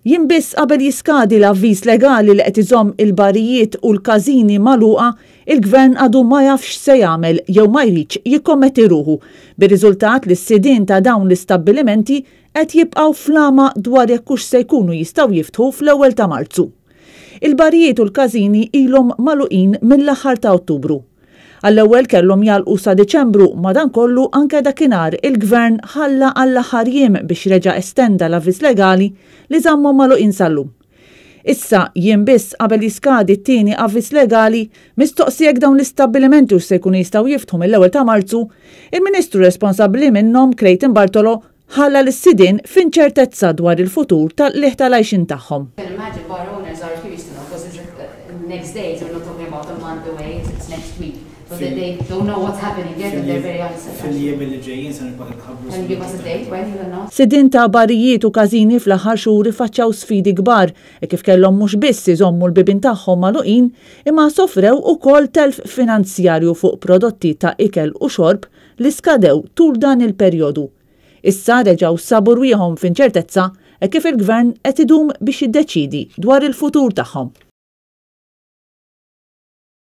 Jiem biss qabel jiskadi l-avviż legali li qed iżomm il-barijiet u l-każini magħluqa, il-Gvern għadu ma jafx x'se jagħmel jew ma jridx jikkommetti ruħu, bir-riżultat li s-sidien ta' dawn l-istabbilimenti qed jibqgħu fl-għama dwar jekk hux se jkunu jistgħu jiftħu fl-ewwel ta' Marzu. Il-barijiet u l-każini ilhom magħluqin mill-aħħar ta' Ottubru. Għall-ewwel kellhom jagħlqu sa Diċembru, madankollu anke dakinhar il-Gvern ħalla għall-aħħar jiem biex reġa' estenda l-avviż legali li żammhom magħluqin sal-lum. Issa, jiem biss qabel jiskadi t-tieni avviż legali, mistoqsi jekk dawn l-istabbilimenti hux se jkunu jistgħu jiftħu mill-ewwel ta' Marzu, il-Ministru responsabbli minnhom, Clayton Bartolo, ħalla lis-sidien f'inċertezza dwar il-futur tal-qligħ tal-għajxien tagħhom. Can imagine bar owners are curious to know because it's next days, we're not talking about a month away, it's next week. So they, they don't know what's happening yet and they're very uncertain. Fil-jiem li ġejjin se nibqa' nħabbru. Can you give us a date when you announce? Sidien ta' barijiet u każini fl-aħħar xhur iffaċċjaw sfidi kbar e kif kellhom mhux biss iżommu l-bibien tagħhom magħluqin imma sofrew ukoll telf finanzjarju fuq prodotti ta' ikel u xorb li skadew tul dan il-perjodu. Issa reġgħu sabu rwieħhom f'inċertezza e kif il-Gvern qed idum biex jiddeċidi dwar il-futur tagħhom.